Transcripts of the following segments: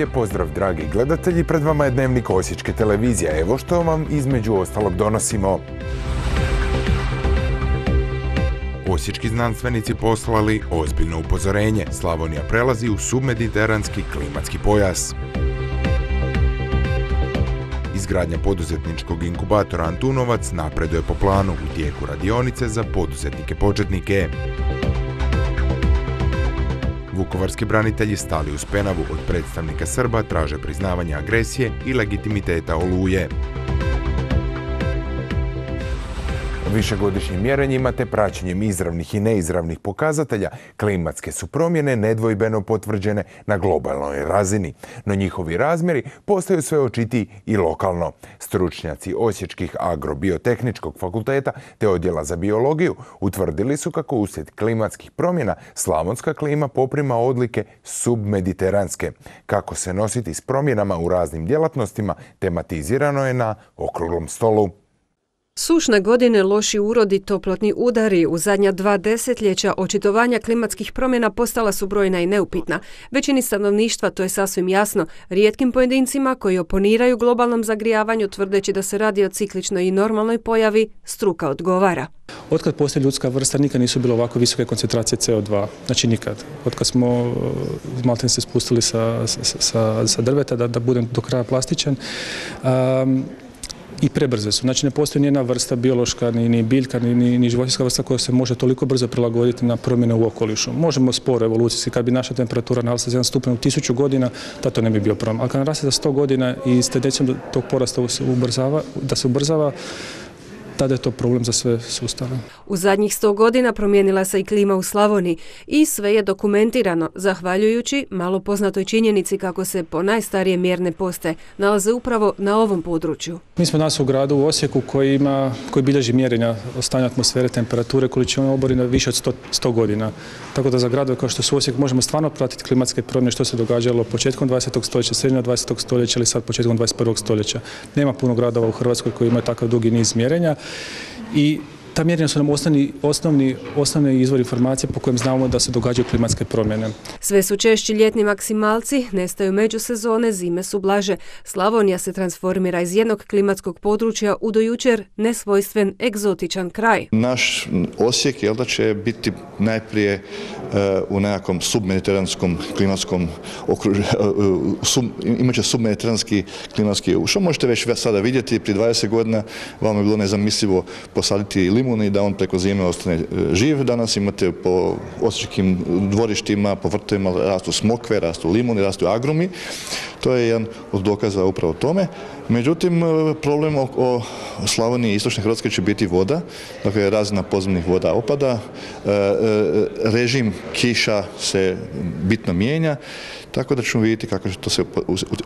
Lijep pozdrav, dragi gledatelji, pred vama je Dnevnik Osječke televizije. Evo što vam između ostalog donosimo. Osječki znanstvenici poslali ozbiljno upozorenje. Slavonija prelazi u submediteranski klimatski pojas. Izgradnja poduzetničkog inkubatora Antunovac napreduje po planu, u tijeku radionice za poduzetnike početnike. Vukovarski branitelji stali uz Penavu od predstavnika Srba traže priznavanje agresije i legitimiteta Oluje. Višegodišnjim mjerenjima te praćenjem izravnih i neizravnih pokazatelja klimatske su promjene nedvojbeno potvrđene na globalnoj razini, no njihovi razmjeri postaju sve očitiji i lokalno. Stručnjaci Osječkih agrobiotehničkog fakulteta te odjela za biologiju utvrdili su kako uslijed klimatskih promjena slavonska klima poprima odlike submediteranske. Kako se nositi s promjenama u raznim djelatnostima tematizirano je na okruglom stolu. Sušne godine, loši urodi, toplotni udari, u zadnja 2 desetljeća očitovanja klimatskih promjena postala su brojna i neupitna. Većini stanovništva to je sasvim jasno, rijetkim pojedincima koji oponiraju globalnom zagrijavanju tvrdeći da se radi o cikličnoj i normalnoj pojavi, struka odgovara. Otkad postoji ljudska vrsta nikad nisu bile ovako visoke koncentracije CO2, znači nikad. Otkad smo maltene se spustili sa drveta, da budem do kraja plastičan, i prebrze su. Znači ne postoji nijedna vrsta biološka, ni biljka, ni životinjska vrsta koja se može toliko brzo prilagoditi na promjene u okolišu. Možemo sporo evolucijski, kad bi naša temperatura narasla za 1 stupanj u 1000 godina, to ne bi bio problem. Ali kad naraste za 100 godina i s tendencijom tog porasta da se ubrzava, tada je to problem za sve sustave. U zadnjih 100 godina promijenila se i klima u Slavoniji i sve je dokumentirano, zahvaljujući malo poznatoj činjenici kako se po najstarije mjerne postaje nalaze upravo na ovom području. Mi smo danas u gradu u Osijeku koji bilježi mjerenja stanja atmosfere, temperature, količine oborina više od 100 godina. Tako da za gradove kao što su Osijek možemo stvarno pratiti klimatske promjene što se događalo početkom 20. stoljeća, sredinom 20. stoljeća ili sad početkom 21. stoljeća. Nema puno gradova u Hrvatskoj koji imaju takav dugi niz mjerenja. I ta mjerenja su nam osnovni izvor informacije po kojem znamo da se događaju klimatske promjene. Sve su češći ljetni maksimalci, nestaju međusezone, zime su blaže. Slavonija se transformira iz jednog klimatskog područja u do jučer nesvojstven egzotičan kraj. Naš Osijek će biti najprije u nekakvom submediteranskom klimatskom okruženju, imat će submediteranski klimatski, što možete već sada vidjeti, prije 20 godina vam je bilo nezamislivo posaditi limun i da on preko zime ostane živ. Danas imate po osječkim dvorištima, po vrtovima rastu smokve, rastu limuni, rastu agrumi. To je jedan od dokaza upravo tome. Međutim, problem o Slavoniji i istočne Hrvatske će biti voda, dakle razina podzemnih voda opada, režim kiša se bitno mijenja, tako da ćemo vidjeti kako će to se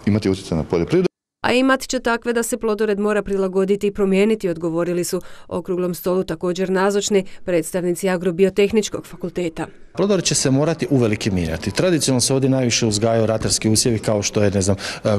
imati utjecaj na poljoprivredu. A imat će takve da se plodored mora prilagoditi i promijeniti, odgovorili su okruglom stolu također nazočni predstavnici agrobiotehničkog fakulteta. Plodored će se morati uvelike mijenjati. Tradicionalno se ovdje najviše uzgajaju ratarski usjevi kao što je,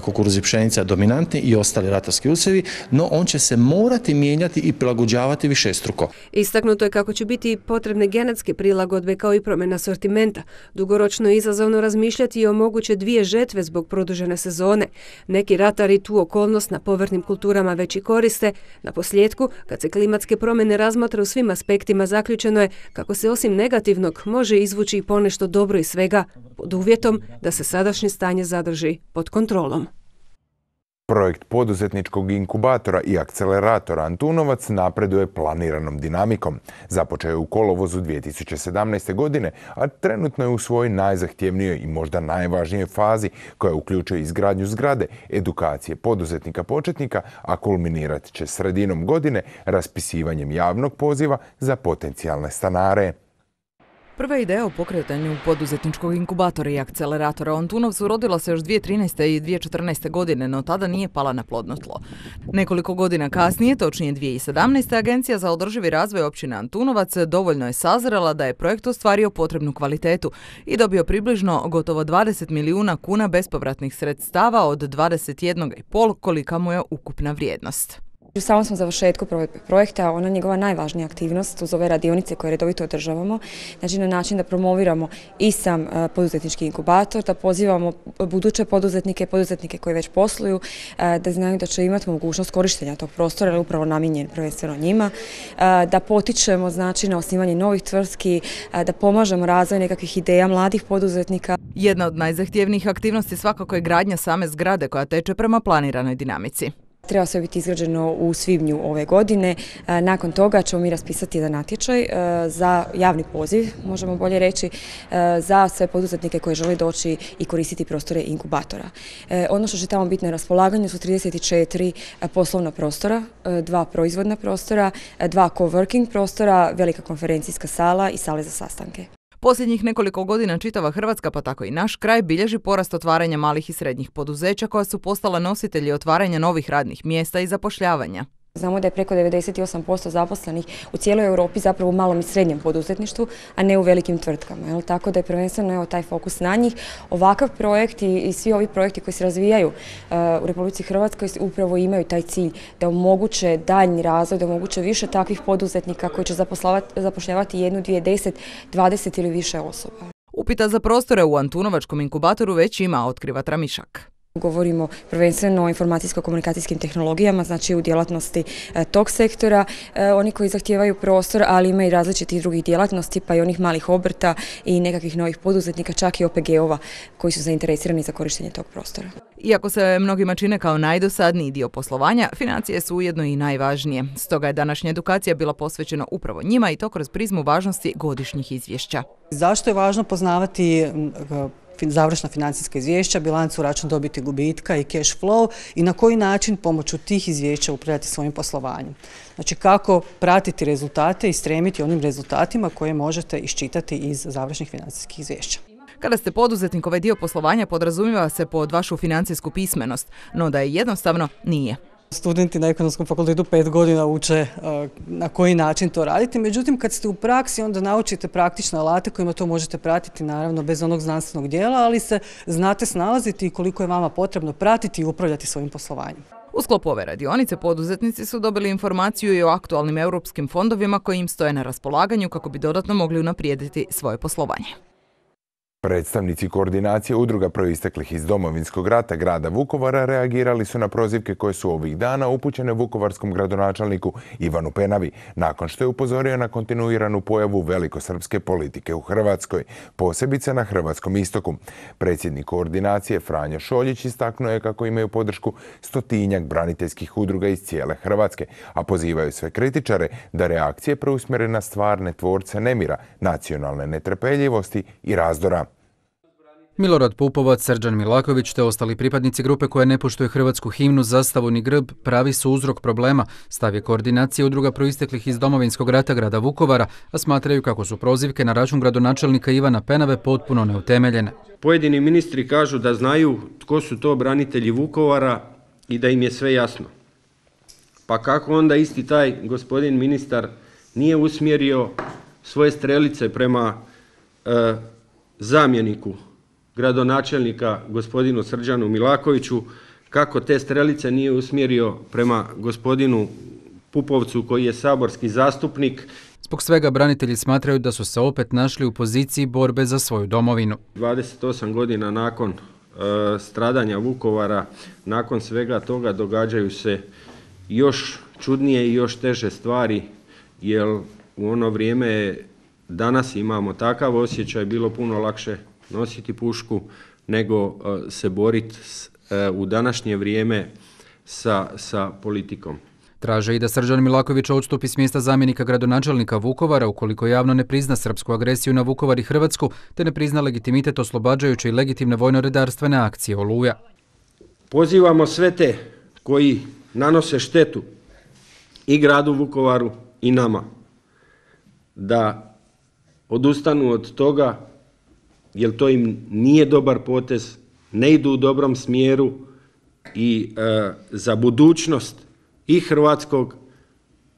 kukuruz i pšenica dominantni i ostali ratarski usjevi, no on će se morati mijenjati i prilagođavati višestruko. Istaknuto je kako će biti potrebne genetske prilagodbe kao i promjena sortimenta. Dugoročno je izazovno razmišljati i o moguće 2 žetve zbog produžene sezone. Neki ratari tu okolnost na povrtnim kulturama već i koriste. Na posljedku, kad se klimatske promjene razmatra u svim aspektima, zaključeno je kako se osim negativnog može izvući i ponešto dobro iz svega, pod uvjetom da se sadašnje stanje zadrži pod kontrolom. Projekt poduzetničkog inkubatora i akceleratora Antunovac napreduje planiranom dinamikom. Započeo je u kolovozu 2017. godine, a trenutno je u svojoj najzahtjevnijoj i možda najvažnijoj fazi koja uključuje izgradnju zgrade, edukacije poduzetnika početnika, a kulminirat će sredinom godine raspisivanjem javnog poziva za potencijalne stanare. Prva ideja o pokretanju poduzetničkog inkubatora i akceleratora u Antunovcu rodila se još 2013. i 2014. godine, no tada nije pala na plodno tlo. Nekoliko godina kasnije, točnije 2017. Agencija za održivi razvoj općine Antunovac dovoljno je sazrela da je projekt ostvario potrebnu kvalitetu i dobio približno gotovo 20 milijuna kuna bespovratnih sredstava od 21,5 kolika mu je ukupna vrijednost. U samom smo završetku provedbe projekta, ona je njegova najvažnija aktivnost uz ove radionice koje redovito održavamo, znači na način da promoviramo i sam poduzetnički inkubator, da pozivamo buduće poduzetnike koji već posluju, da znaju da će imati mogućnost korištenja tog prostora, jer je upravo namijenjen prvenstveno njima, da potičemo znači na osnivanje novih tvrtki, da pomažemo razvoj nekakvih ideja mladih poduzetnika. Jedna od najzahtjevnijih aktivnosti svakako je gradnja same zgrade koja teče prema planiranoj dinamici. Treba sve biti izgrađeno u svibnju ove godine. Nakon toga ćemo mi raspisati jedan natječaj za javni poziv, možemo bolje reći, za sve poduzetnike koji žele doći i koristiti prostore inkubatora. Ono što će tamo biti na raspolaganju su 34 poslovna prostora, 2 proizvodna prostora, 2 coworking prostora, velika konferencijska sala i sale za sastanke. Posljednjih nekoliko godina čitava Hrvatska, pa tako i naš kraj, bilježi porast otvaranja malih i srednjih poduzeća koja su postala nositelji otvaranja novih radnih mjesta i zapošljavanja. Znamo da je preko 98% zaposlenih u cijeloj Europi zapravo u malom i srednjem poduzetništvu, a ne u velikim tvrtkama. Tako da je prvenstveno taj fokus na njih. Ovakav projekt i svi ovi projekti koji se razvijaju u Republici Hrvatskoj upravo imaju taj cilj da omoguće daljnji razvoj, da omoguće više takvih poduzetnika koji će zapošljavati 1, 2, 10, 20 ili više osoba. Upita za prostore u Antunovačkom inkubatoru već ima, otkriva Tramišak. Govorimo prvenstveno o informacijsko-komunikacijskim tehnologijama, znači u djelatnosti tog sektora, oni koji zahtijevaju prostor, ali ima i različitih drugih djelatnosti, pa i onih malih obrta i nekakvih novih poduzetnika, čak i OPG-ova koji su zainteresirani za korištenje tog prostora. Iako se mnogima čine kao najdosadniji dio poslovanja, financije su ujedno i najvažnije. Stoga je današnja edukacija bila posvećena upravo njima i to kroz prizmu važnosti godišnjih izvješća. Zašto je važno poznavati završna financijska izvješća, bilancu, račun dobiti, gubitka i cash flow i na koji način pomoću tih izvješća upravljati svojim poslovanjem. Znači kako pratiti rezultate i stremiti onim rezultatima koje možete iščitati iz završnih financijskih izvješća. Kada ste poduzetnik, ovaj dio poslovanja podrazumijeva se pod vašu financijsku pismenost, no da je jednostavno nije. Studenti na ekonomskom fakultetu 5 godina uče na koji način to raditi, međutim kad ste u praksi onda naučite praktične alate kojima to možete pratiti, naravno bez onog znanstvenog dijela, ali se znate snalaziti i koliko je vama potrebno pratiti i upravljati svojim poslovanjem. U sklopu ove radionice poduzetnici su dobili informaciju i o aktualnim europskim fondovima koji im stoje na raspolaganju kako bi dodatno mogli unaprijediti svoje poslovanje. Predstavnici koordinacije udruga proisteklih iz Domovinskog rata grada Vukovara reagirali su na prozivke koje su ovih dana upućene vukovarskom gradonačelniku Ivanu Penavi, nakon što je upozorio na kontinuiranu pojavu velikosrpske politike u Hrvatskoj, posebice na hrvatskom istoku. Predsjednik koordinacije Franjo Šoljić istaknuo je kako imaju podršku 100-tinjak braniteljskih udruga iz cijele Hrvatske, a pozivaju sve kritičare da reakcije preusmjere na stvarne tvorce nemira, nacionalne netrpeljivosti i razdora. Milorad Pupovac, Srđan Milaković te ostali pripadnici grupe koja ne poštuje hrvatsku himnu, zastavu ni grb pravi su uzrok problema, stav je koordinacije udruga proisteklih iz Domovinskog rata grada Vukovara, a smatraju kako su prozivke na račun gradonačelnika Ivana Penave potpuno neutemeljene. Pojedini ministri kažu da znaju tko su to branitelji Vukovara i da im je sve jasno. Pa kako onda isti taj gospodin ministar nije usmjerio svoje strelice prema zamjeniku gradonačelnika gospodinu Srđanu Milakoviću, kako te strelice nije usmjerio prema gospodinu Pupovcu koji je saborski zastupnik. Zbog svega branitelji smatraju da su se opet našli u poziciji borbe za svoju domovinu. 28 godina nakon stradanja Vukovara, nakon svega toga događaju se još čudnije i još teže stvari, jer u ono vrijeme danas imamo takav osjećaj, bilo puno lakše nositi pušku nego se boriti u današnje vrijeme sa politikom. Traže i da Srđan Milaković odstupi s mjesta zamjenika gradonačelnika Vukovara ukoliko javno ne prizna srpsku agresiju na Vukovar i Hrvatsku te ne prizna legitimitet oslobađajuće i legitimne vojno-redarstvene akcije Oluja. Pozivamo sve te koji nanose štetu i gradu Vukovaru i nama da odustanu od toga, jer to im nije dobar potez, ne idu u dobrom smjeru i za budućnost i hrvatskog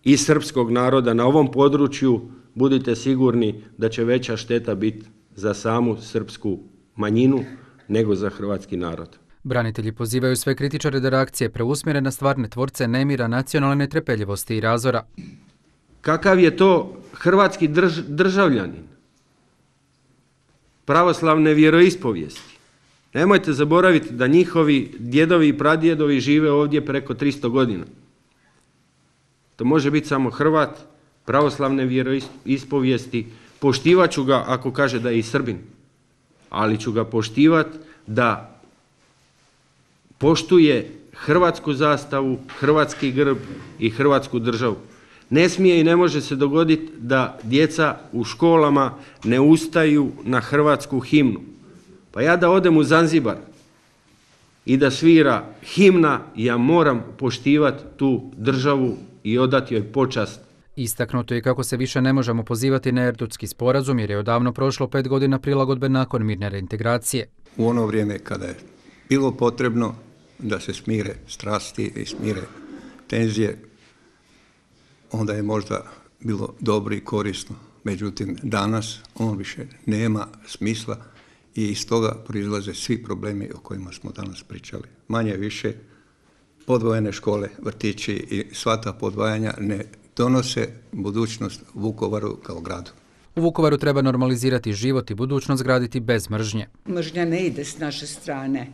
i srpskog naroda na ovom području budite sigurni da će veća šteta biti za samu srpsku manjinu nego za hrvatski narod. Branitelji pozivaju sve kritičare da reakcije preusmjere na stvarne tvorce nemira, nacionalne netrpeljivosti i razora. Kakav je to hrvatski državljanin pravoslavne vjeroispovijesti? Nemojte zaboraviti da njihovi djedovi i pradjedovi žive ovdje preko 300 godina. To može biti samo Hrvat pravoslavne vjeroispovijesti. Poštivat ću ga ako kaže da je i Srbin, ali ću ga poštivati da poštuje hrvatsku zastavu, hrvatski grb i hrvatsku državu. Ne smije i ne može se dogoditi da djeca u školama ne ustaju na hrvatsku himnu. Pa ja da odem u Zanzibar i da svira himna, ja moram poštivati tu državu i odati joj počast. Istaknuto je kako se više ne možemo pozivati na Erdutski sporazum jer je odavno prošlo 5 godina prilagodbe nakon mirne reintegracije. U ono vrijeme kada je bilo potrebno da se smire strasti i smire tenzije, onda je možda bilo dobro i korisno. Međutim, danas on više nema smisla i iz toga proizlaze svi problemi o kojima smo danas pričali. Manje više podvojene škole, vrtići i sva ta podvajanja ne donose budućnost Vukovaru kao gradu. U Vukovaru treba normalizirati život i budućnost graditi bez mržnje. Mržnja ne ide s naše strane.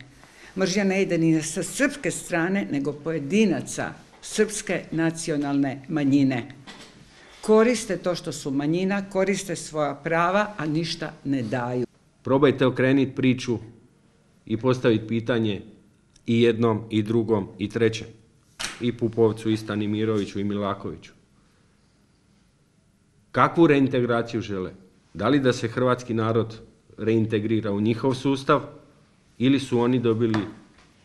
Mržnja ne ide ni sa srpske strane, nego pojedinaca srpske nacionalne manjine. Koriste to što su manjina, koriste svoja prava, a ništa ne daju. Probajte okrenuti priču i postaviti pitanje i jednom, i drugom, i trećem. I Pupovcu, i Stanimiroviću, i Milakoviću. Kakvu reintegraciju žele? Da li da se hrvatski narod reintegrira u njihov sustav ili su oni dobili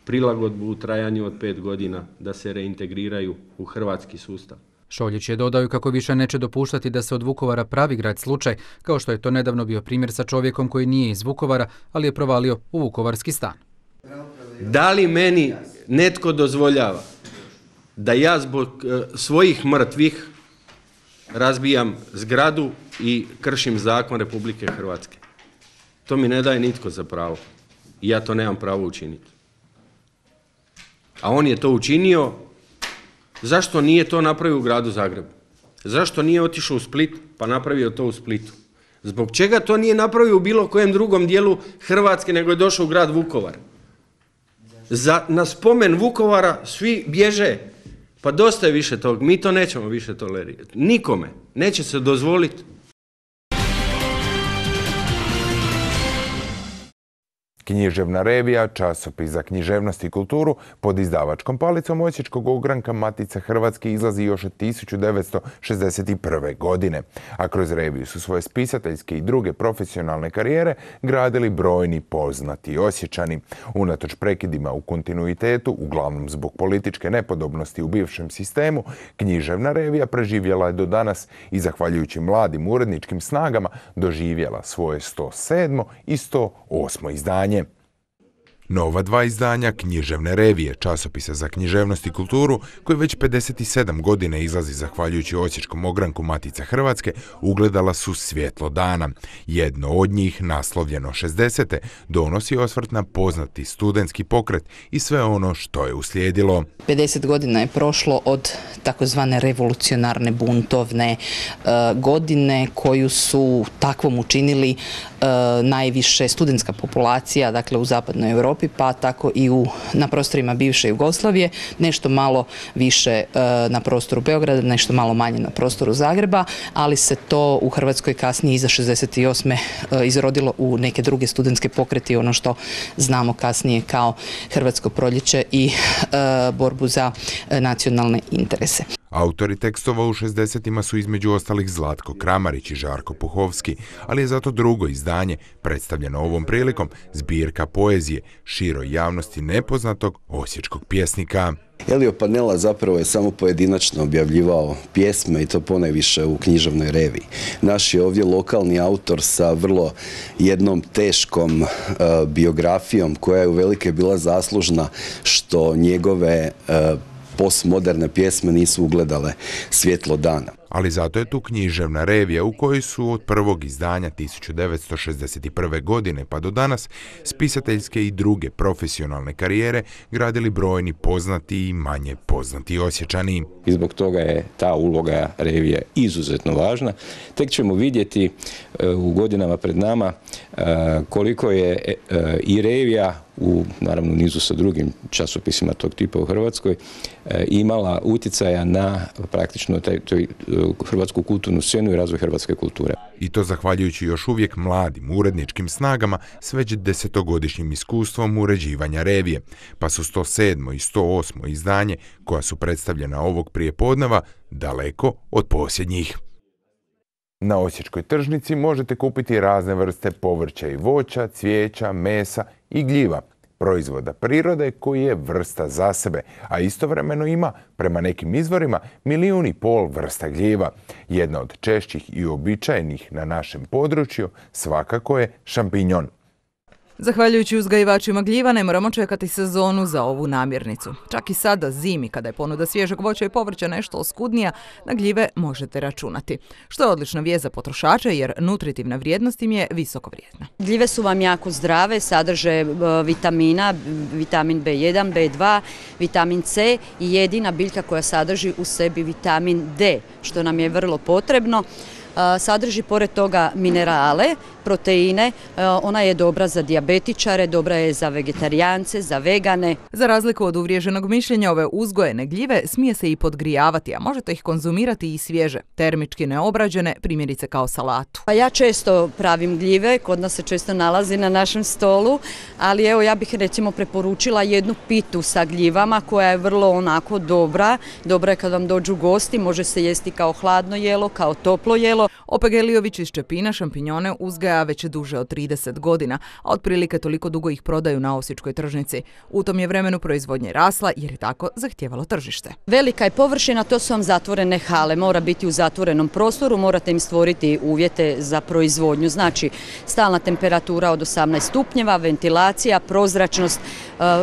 prilagodbu u trajanju od 5 godina da se reintegriraju u hrvatski sustav? Šoljić je dodao kako više neće dopuštati da se od Vukovara pravi grad slučaj, kao što je to nedavno bio primjer sa čovjekom koji nije iz Vukovara, ali je provalio u vukovarski stan. Da li meni netko dozvoljava da ja zbog svojih mrtvih razbijam zgradu i kršim zakon Republike Hrvatske? To mi ne daje nitko za pravo i ja to nemam pravo učiniti. A on je to učinio. Zašto nije to napravio u gradu Zagrebu? Zašto nije otišao u Split pa napravio to u Splitu? Zbog čega to nije napravio u bilo kojem drugom dijelu Hrvatske nego je došao u grad Vukovar? Na spomen Vukovara svi bježe. Pa dosta je više tog, mi to nećemo više tolerirati. Nikome neće se dozvoliti. Književna revija, časopis za književnost i kulturu pod izdavačkom palicom osječkog ogranka Matica Hrvatske izlazi još od 1961. godine. A kroz reviju su svoje spisateljske i druge profesionalne karijere gradili brojni poznati Osječani. Unatoč prekidima u kontinuitetu, uglavnom zbog političke nepodobnosti u bivšem sistemu, književna revija preživjela je do danas i zahvaljujući mladim uredničkim snagama doživjela svoje 107. i 108. izdanje. Nova 2 izdanja književne revije, časopisa za književnost i kulturu, koji već 57 godina izlazi zahvaljujući osječkom ogranku Matica Hrvatske, ugledala su svjetlo dana. Jedno od njih, naslovljeno 60. donosi osvrt na poznati studentski pokret i sve ono što je uslijedilo. 50 godina je prošlo od takozvane revolucionarne buntovne godine koju su takvom učinili najviše studentska populacija, dakle u zapadnoj Europi, pa tako i na prostorima bivše Jugoslavije, nešto malo više na prostoru Beograda, nešto malo manje na prostoru Zagreba, ali se to u Hrvatskoj kasnije iza 68. izrodilo u neke druge studentske pokrete i ono što znamo kasnije kao Hrvatsko proljeće i borbu za nacionalne interese. Autori tekstova u 60-ima su između ostalih Zlatko Kramarić i Žarko Puhovski, ali je zato drugo izdanje, predstavljeno ovom prilikom, zbirka poezije široj javnosti nepoznatog osječkog pjesnika. Elio Panela zapravo je samo pojedinačno objavljivao pjesme i to ponajviše u književnoj reviji. Naš je ovdje lokalni autor sa vrlo jednom teškom biografijom koja je uvelike bila zaslužna što njegove postmoderne pjesme nisu ugledale svjetlo dana. ali zato je tu književna revija u kojoj su od prvog izdanja 1961. godine pa do danas spisateljske i druge profesionalne karijere gradili brojni poznati i manje poznati Osječani. I zbog toga je ta uloga revije izuzetno važna. Tek ćemo vidjeti u godinama pred nama koliko je i revija u naravno nizu sa drugim časopisima tog tipa u Hrvatskoj imala utjecaja na praktično hrvatsku kulturnu scenu i razvoj hrvatske kulture. I to zahvaljujući još uvijek mladim uredničkim snagama s već 10-godišnjim iskustvom uređivanja revije, pa su 107. i 108. izdanje, koja su predstavljena ovog prijepodneva, daleko od posljednjih. Na osječkoj tržnici možete kupiti razne vrste povrća i voća, cvijeća, mesa i gljiva, proizvoda prirode koji je vrsta za sebe, a istovremeno ima, prema nekim izvorima, 1,5 milijuna vrsta gljiva. Jedna od češćih i uobičajenih na našem području svakako je šampinjon. Zahvaljujući uzgajivačima gljiva ne moramo čekati sezonu za ovu namirnicu. Čak i sada zimi, kada je ponuda svježeg voća i povrća nešto oskudnija, na gljive možete računati. Što je odlična vijest za potrošače jer nutritivna vrijednost im je visoko vrijedna. Gljive su vam jako zdrave, sadrže vitamina, vitamin B1, B2, vitamin C i jedina biljka koja sadrži u sebi vitamin D, što nam je vrlo potrebno. Sadrži pored toga minerale, proteine, ona je dobra za dijabetičare, dobra je za vegetarijance, za vegane. Za razliku od uvriježenog mišljenja, ove uzgojene gljive smije se i podgrijavati, a možete ih konzumirati i svježe, termički neobrađene, primjerice kao salatu. Ja često pravim gljive, kod nas se često nalazi na našem stolu, ali evo ja bih recimo preporučila jednu pitu sa gljivama koja je vrlo onako dobra. Dobra je kad vam dođu gosti, može se jesti kao hladno jelo, kao toplo jelo. OPG Lijović iz Čepina šampinjone uzgaja već duže od 30 godina, a otprilike toliko dugo ih prodaju na osječkoj tržnici. U tom je vremenu proizvodnje rasla jer je tako zahtijevalo tržište. Velika je površina, to su vam zatvorene hale, mora biti u zatvorenom prostoru, morate im stvoriti uvjete za proizvodnju. Znači, stalna temperatura od 18 stupnjeva, ventilacija, prozračnost,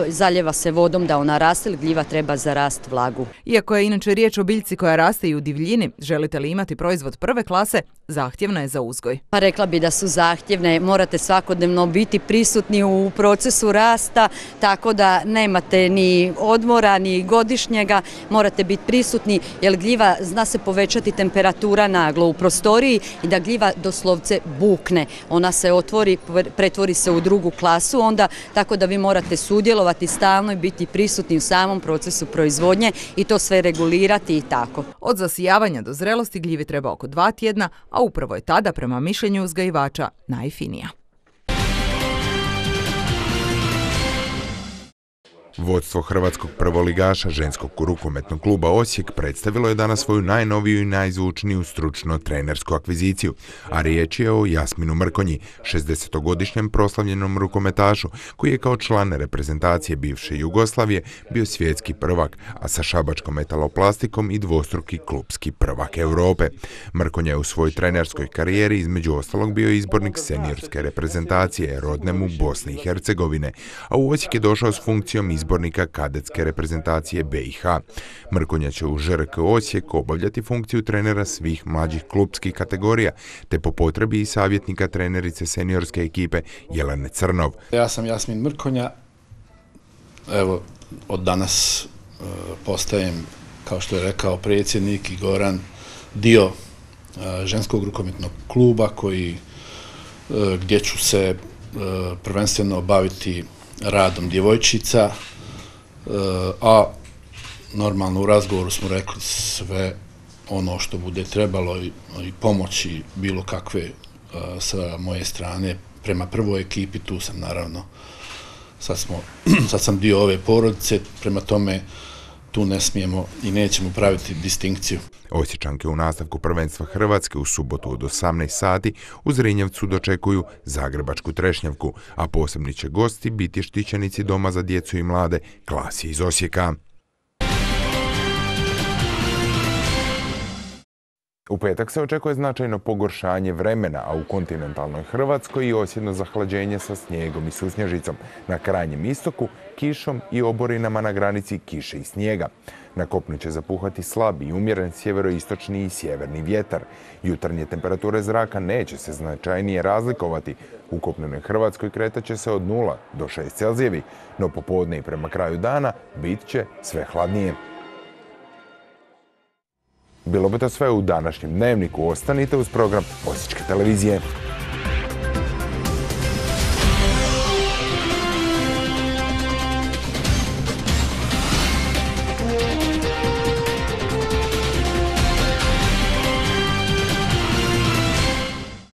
zaljeva se vodom da ona raste, gljiva treba za rast vlagu. Iako je inače riječ o biljci koja raste i u divljini, želite li imati proizvod prve klase, zahtjevna je za uzgoj. Pa rekla bi da su zahtjevne, morate svakodnevno biti prisutni u procesu rasta, tako da nemate ni odmora, ni godišnjega, morate biti prisutni, jer gljiva zna se povećati temperatura naglo u prostoriji i da gljiva doslovce bukne. Ona se otvori, pretvori se u drugu klasu, onda tako da vi morate sudjelovati stalno i biti prisutni u samom procesu proizvodnje i to sve regulirati i tako. Od zasijavanja do zrelosti gljivi treba oko 2 tjedna, a upravo je tada, prema mišljenju uzgajivača, najfinija. Vodstvo hrvatskog prvoligaša ženskog rukometnog kluba Osijek predstavilo je danas svoju najnoviju i najzvučniju stručno-trenersku akviziciju, a riječ je o Jasminu Mrkonji, 60-godišnjem proslavljenom rukometašu, koji je kao član reprezentacije bivše Jugoslavije bio svjetski prvak, a sa šabačkom metaloplastikom i dvostruki klupski prvak Europe. Mrkonja je u svojoj trenerskoj karijeri između ostalog bio izbornik seniorske reprezentacije rodnem u Bosni i Hercegovine, a u Osijek je došao s funkcijom izbornika kadetske reprezentacije BiH. Mrkonja će u ŽRK Osijek obavljati funkciju trenera svih mlađih klupskih kategorija, te po potrebi i savjetnika trenerice seniorske ekipe Jelene Crnov. Ja sam Jasmin Mrkonja, evo od danas postajem, kao što je rekao predsjednik i Goran, dio ženskog rukometnog kluba gdje ću se prvenstveno baviti radom djevojčica, a normalno u razgovoru smo rekli sve ono što bude trebalo i pomoći bilo kakve sa moje strane prema prvoj ekipi. Tu sam naravno, sad sam dio ove porodice, prema tome tu ne smijemo i nećemo praviti distinkciju. Osječanke u nastavku prvenstva Hrvatske u subotu od 18 sati u Zrinjevcu dočekuju zagrebačku Trešnjevku, a posebni će gosti biti štićenici Doma za djecu i mlade Klasje iz Osijeka. U petak se očekuje značajno pogoršanje vremena, a u kontinentalnoj Hrvatskoj i osjedno zahlađenje sa snijegom i susnježicom. Na krajnjem istoku kišom i oborinama na granici kiše i snijega. Na kopnu će zapuhati slab i umjeren sjeveroistočni i sjeverni vjetar. Jutarnje temperature zraka neće se značajnije razlikovati. U kopnenoj Hrvatskoj kretat će se od 0 do 6 Celzijevi, no popodne i prema kraju dana bit će sve hladnije. Bilo bi to sve u današnjem dnevniku. Ostanite uz program Osječke televizije.